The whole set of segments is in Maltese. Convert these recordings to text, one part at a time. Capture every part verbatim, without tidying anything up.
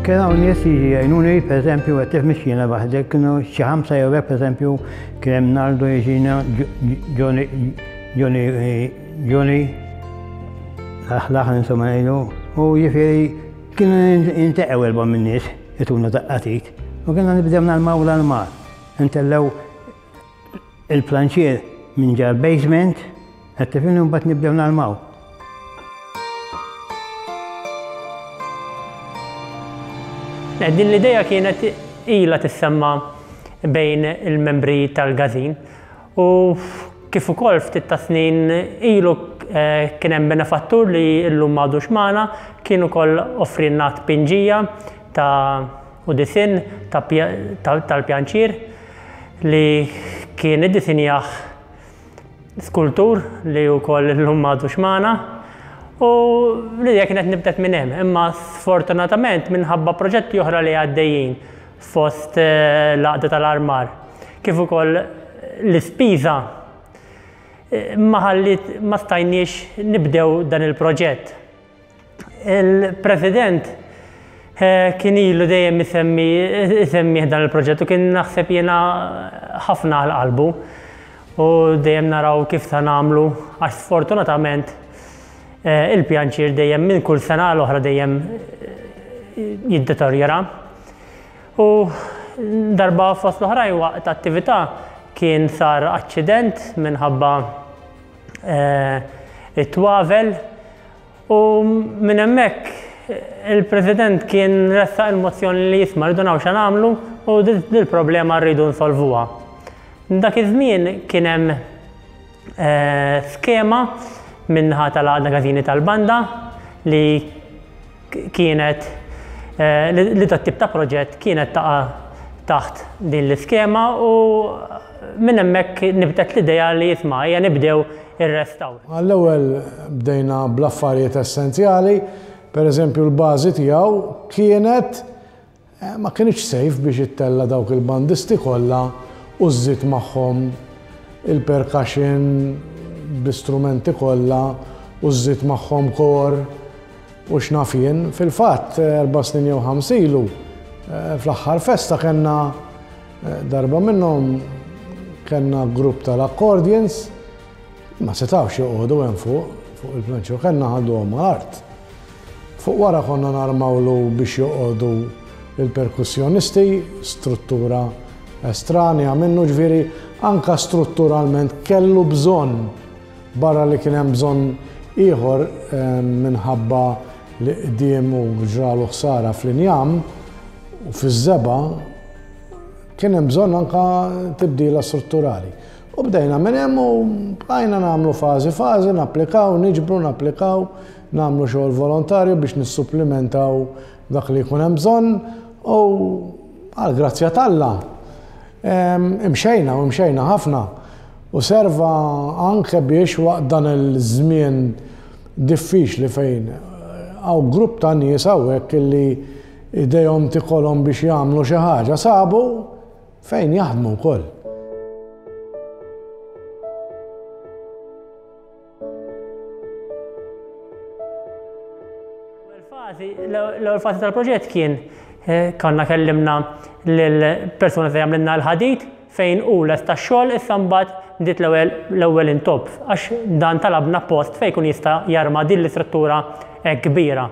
Kien hawn nies jiġi jgħinuni, pereżempju, qed tifhimx jiena waħdek, kienu xi ħamsa jew hekk, pereżempju, kien hemm Naldo jiġina, Johnny, Johnny, Johnny, l-aħ insomma ngħidu, u jiġifieri kienu jinteqgħu erba' min-nies jtuna daqqa t'id. U kienna nibdew narmaw l-armar. Intellgħu il-planċier minn ġal basement, qed tifhimni, mbagħad nibdew narmaw. Din l-ideja kienet ilha tissemma bejn il-membri tal-Gazin u kif ukoll ftit ta' snin ilu kien hemm benefattur li llum m'għadux magħna, kien ukoll offrilna tpinġija ta' u disinn tal-pjanċier li kien iddisinjah skultur li wkoll illum m'għadux magħna. U l-idea kienet nibdet minn hemm, imma sfortunatament minħabba proġetti oħra li għaddejjin fost l-għaqda tal-armar, kif ukoll l-ispiża ma ħallit ma stajniex nibdew dan il-proġett. Il-President kien ilu dejjem isemmi isemmih dan il-proġett u kien naħseb jiena ħafna għal qalbu u dejjem naraw kif se nagħmlu għax sfortunatament il-pjanċier dejjem minn kull sena l-oħra dejjem jiddeterjora. U darba fost l-oħrajn waqt attività kien sar aċċident minħabba it-twavel u minn hemmhekk il-President kien ressaq il-mozzjoni li jisma' rridu naraw x'għamlu u dil-problema rridu nsolvuha. Dak iż-żmien kien hemm skema minnaħa tal-Għaqda Każini tal-Banda li kienet li dat tip ta' proġett kienet taqa' taħt din l-iskema u minn hemmhekk nibtet l-idea li jisma' hija nibdew ir-restawr. Għall-ewwel bdejna bl-affarijiet essenzjali, pereżempju l-bażi tiegħu kienet ma kienx safe biex ittella' dawk il-bandisti kollha u żżid magħhom il-percussion bl-istrumenti kollha u żżid magħhom kor u x'naf jien. Fil-fatt erba' snin jew ħams ilu fl-aħħar festa kellna darba minnhom kellna grupp tal-accordions ma setgħux joqogħdu hemm fuq fuq il-planċier, kellna ħaduhom mal-art. Fuq wara konna narmawlu biex joqogħdu il-perkussjonisti, struttura estranja minnu, ġifieri anka strutturalment kellu bżonn, barra li kien hemm bżonn ieħor minħabba li qdiem u ġralu ħsara fl-injam u fiż-żebgħa, kien hemm bżonn anka tibdila strutturali. U bdejna minn hemm u bqajna nagħmlu fażi fażi, napplikaw, niġbru, napplikaw, nagħmlu xogħol volontarju biex nissupplimentaw dak li jkun hemm bżonn u għall-grazzja t'Alla imxejna u imxejna ħafna. U serva anke biex waqt dan il-żmien diffiċli fejn hawn grupp ta' nies hawnhekk illi idejhom tikolhom biex jagħmlu xi ħaġa sabu fejn jaħdmu wkoll. L-ewwel fażi tal-proġett kien konna kellimna lill-persuna li għamlilna l-ħadid fejn hu lest tax-xogħol, issa mbagħad bdiet l-ewwel intopp għax dan talabna post fejn jkun jista' jarma din l-istruttura hekk kbira.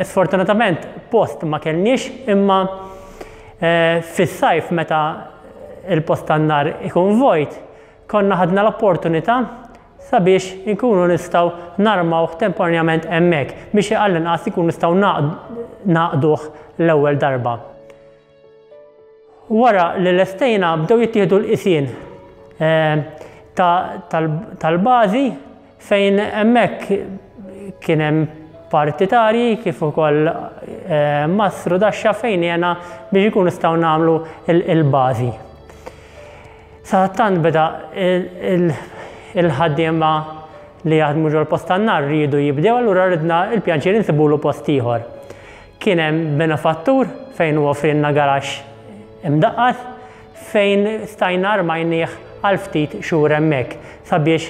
Sfortunatament post ma kellniex, imma fis-sajf meta il-post tan-nar ikun vojt, konna ħadna l-opportunità sabiex inkunu nistgħu narmawh temporanjament hemmhekk biex għall-inqas ikunu nistgħu naqduh l-ewwel darba. Wara li lestejna bdew jittieħdu l-qisien tal-bażi Fejn hemmhekk kien hemm partitarji kif ukoll eh, mastru daxxa fejn jena biex ikun nistgħu nagħmlu il-bażi. Sadattant beda il-ħaddiema li jaħdmu ġol-post tan-nar rridu jibdew, allura ridna il-pjanċier insibulu post ieħor. Kien hemm benefattur fejn hu offrinna garaxx imdaqqas fejn stajna armajnieh għal ftit xhur hemmhekk sabiex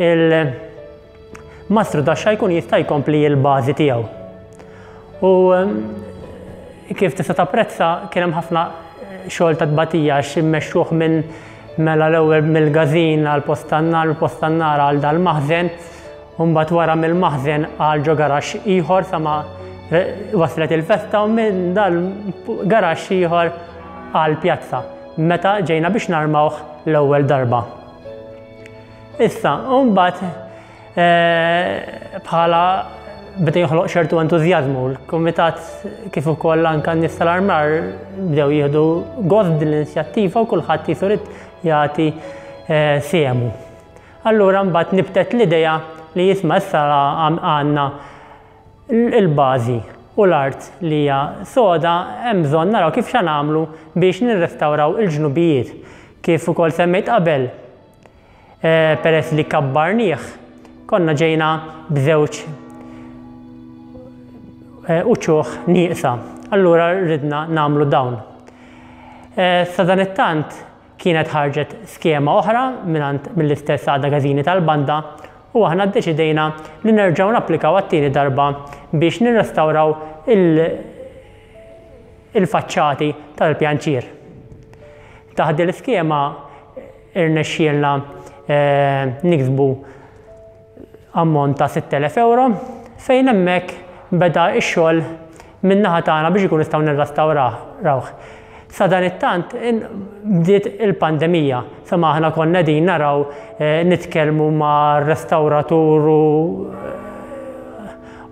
il-mastru daxxa jkun jista' jkompli l-bażi tiegħu. U kif tista' tapprezza kien hemm ħafna xogħol ta' tbatija għax immexxuh minn mela l-ewwel mill-każin għal post tan-nar, post tan-nar għal dal-maħżen, u mbagħad wara mill-maħżen għal ġo garaxx ieħor sa ma waslet il-festa u minn dal-garaxx ieħor għal pjazza meta ġejna biex narmawh l-ewwel darba. Issa, u mbagħad bħala beda joħloq ċertu entużjażmu, l-kumitat kif ukoll anke n-nies tal-armar bdew jieħdu gost din l-inizjattiva u kulħadd jisu rid jagħti sehemu. Allura mbagħad nibtet l-idea li jisma' issa għandna il-bażi u l-art li hija soda, hemm bżonn naraw kif xa nagħmlu biex nirrestawraw il-ġnubijiet. Kif ukoll semmejt qabel, peress li kabbarnieh, konna ġejna b'żewġ uċuħ nieqsa. Allura ridna nagħmlu dawn. Sadanittant kienet ħarġet skema oħra mingħand mill-istess għaqda każini tal-banda u aħna ddeċidejna li nerġgħu napplikaw għat-tieni darba biex nirrestawraw il-faċċati tal-pjanċier. Taħt din l-iskema irnexxielna niksbu ammont ta' sitt elef euro fejn hemmhekk beda x-xogħol min-naħa tagħna biex ikun nistgħu nirrestawrawh. Sadanittant bdiet il-pandemija, sama aħna konna din naraw nitkellmu ma' restawratur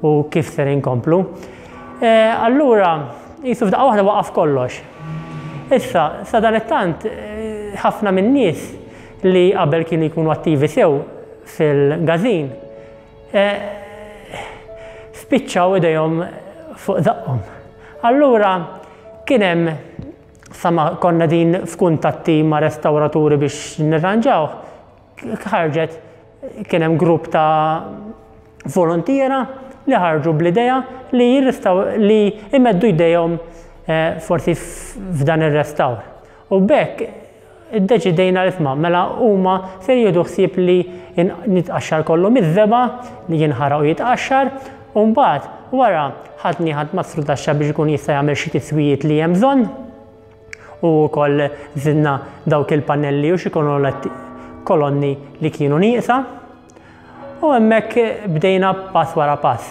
u kif ser inkomplu. Allura, jisu f'daqqa waħda waqaf kollox. Issa, sadanittant ħafna min-nies li qabel kienu jkunu attivi sew fil-każin, spiċċaw idejhom fuq żaqqhom. Allura kien hemm sama konna din f'kuntatti ma' restawraturi biex nirranġaw, ħarġet kien hemm grupp ta' volontiera li ħarġu bl-idea li jirrestaw li imeddu jdejhom forsi f'dan ir-restawr. U b'hekk iddeċidejna li isma' mela huma se jieħdu ħsieb li nitqaxxar kollu miż-żebgħa li jinħaraq u jitqaxxar, u mbagħad wara ħadni ħadd mastru taxxa biex ikun jista' jagħmel xi tiswijiet li hemm bżonn, u wkoll żidna dawk il-pannelli u xi kolonni li kienu nieqsa, u hemmhekk bdejna pass wara pass.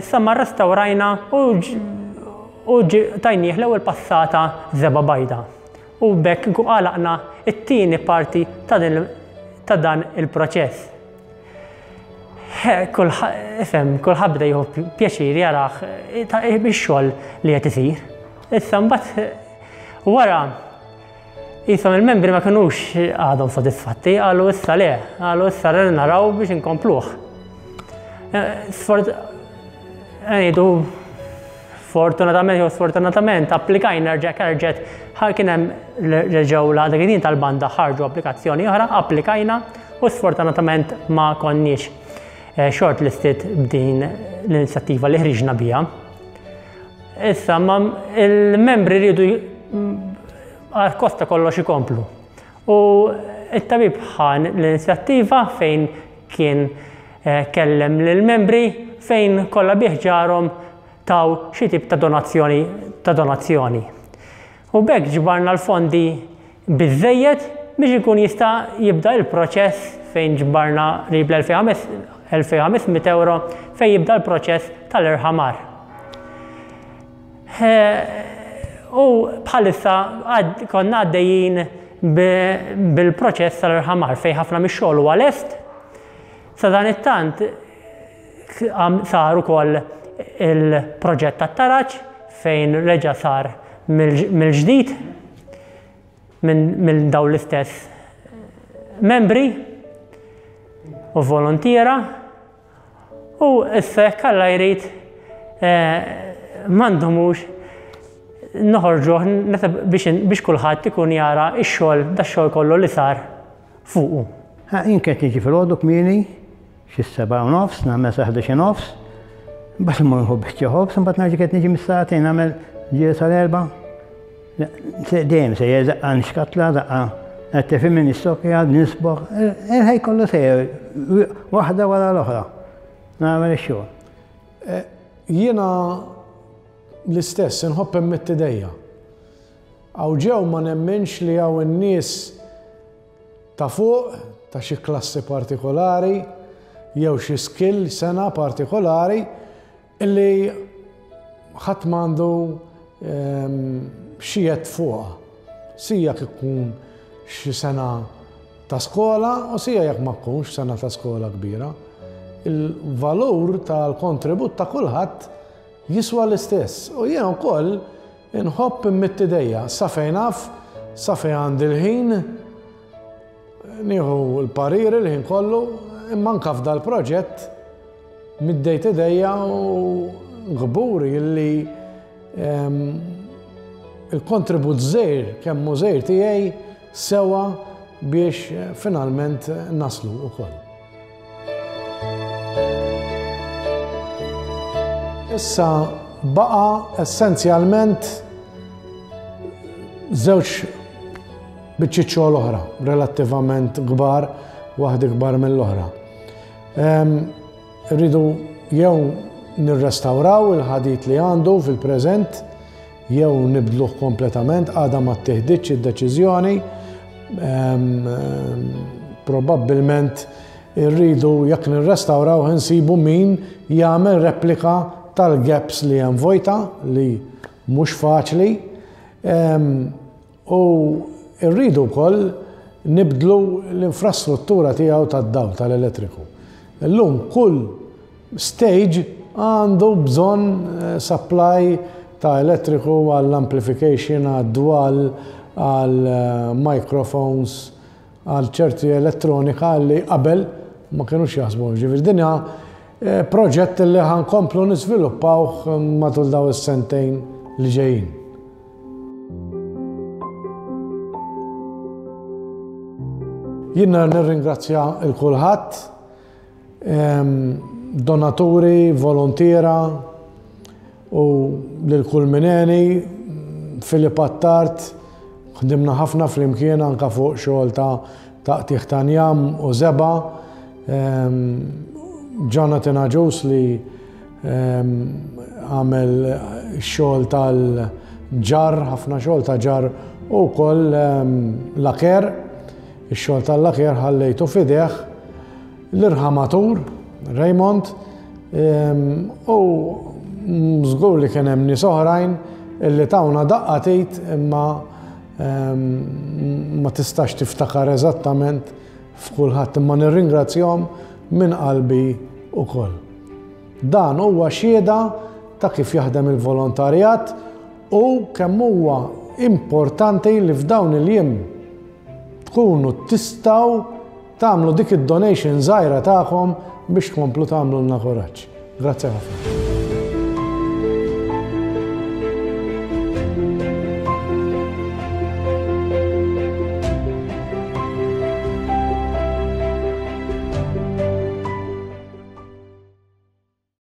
Sa ma rrestawrajna u tajnieh l-ewwel passata żebgħa bajda. U b'hekk għalaqna it-tieni parti ta' dan il-proċess. Ifhem, kulħadd beda jieħu pjaċir jarah ix-xogħol li qed isir. Issa mbagħad wara jisom il-membri ma kinux għadhom sodisfatti, qalu issa le, qalu issa rrid naraw biex inkompluh. Ngħidu fortunatament jew sfortunatament applikajna rġa' rġgħet kien hemm reġgħu l-għaqda każin tal-banda ħarġu applikazzjoni oħra, applikajna u sfortunatament ma konniex shortlisted b'din l-inizjattiva li ħriġna biha. Issa ma il-membri rridu għal kosta kollox ikomplu. U it-tabib ħan l-inizjattiva fejn kien kellem lill-membri fejn kollha biħġarhom taw xi tip ta' donazzjoni ta' donazzjoni. U b'hekk ġbarna l-fondi biżżejjed biex ikun jista' jibda l-proċess fejn ġbarna qrib l-elfejn u ħames mitt euro fejn jibda l-proċess tal-irħamar. U bħalissa konna għaddejjin bil-proċess tal-irħamar fejn ħafna mix-xogħol huwa lest. Sadanittant sar ukoll il-proġett tat-taraġ fejn reġa' sar mill-ġdid minn dawn l-istess membri. u volontiera u issa jekk Alla jrid ma ndumux noħorġuh biex kulħadd ikun jara x-xogħol, dax-xogħol kollu li sar fuqu. Jien kont niġi filgħodu kmieni, xi sebgħa u nofs, nagħmel sa ħdax u nofs, mbagħad immur nieħu biċċa ħobż, imbagħad nerġa' kont niġi mis-sagħtejn nagħmel ġieli sal-erbgħa. Dejjem sejjer daqqa nxkatla, daqqa qed tifhimni nistokja, nisboħ, il-ħej kollu sejjer waħda wara l-oħra. Nagħmel ix-xogħol. Jiena l-istess, inħobb immidd idejja. Hawn ġew ma nemminx li hawn in-nies ta' fuq, ta' xi klassi partikolari, jew xi skill sena partikolari, illi ħadd m'għandu xi jedd fuqha. Sija jekk ikun xi sena ta' skola u sija jekk ma tkunx sena ta' skola kbira. Il-valur tal-kontribut ta' kulħadd jiswa l-istess. U jiena wkoll inħobb immidd idejja sa fejn naf, sa fejn għandi l-ħin, nieħu l-pariri l-ħin kollu, imma anke f'dal-proġett middejt idejja u gburi illi il-kontribut żgħir kemm hu żgħir tiegħi sewa biex finalment naslu wkoll. Issa baqa essenzjalment żewġ biċċiet xogħol oħra, relattivament kbar, waħda kbar mill-oħra. Rridu jew nirrestawraw il-ħadid li għandu fil-preżent, jew nibdluh kompletament, għadha ma ttieħditx id-deċiżjoni. Probabbilment irridu jekk nirrestawraw insibu min jagħmel replika tal-gaps li hemm vojta li mhux faċli. U rridu wkoll nibdlu l-infrastruttura tiegħu tad-dawl tal-elettriku. Illum kull stage għandu bżonn supply ta' elettriku għall-amplification, għad-dwal, għall-microphones, għal ċerti elettronika li qabel ma kienux jaħsbu. Ġifieri din hija proġett li ħankomplu niżviluppawh matul daw is-sentejn li ġejjin. Jiena nirringrazzja il kulħadd, donaturi, volontiera u lil kull mineni, Filip Attard, ħdimna ħafna flimkien anka fuq xogħol ta' taqtigħ ta' njam u żeba', Jonathan Agius li għamel xogħol tal-ġar, ħafna xogħol ta' ġar u wkoll laker, ix-xogħol tal-laker ħallejtu f'idejh l-irħamatur Raymond, u żgur li kien hemm nies oħrajn illi tawna daqqa tit imma ma tistax tiftakar eżattament f'kulħadd, imma nirringrazzjahom minn qalbi ukoll. Dan huwa xhieda ta' kif jaħdem il-volontarjat u kemm huwa importanti li f'dawn il-jiem tkunu tistgħu tagħmlu dik id-donation żgħira tagħkom biex tkomplu tagħmlulna kuraġġ. Grazzi ħafna.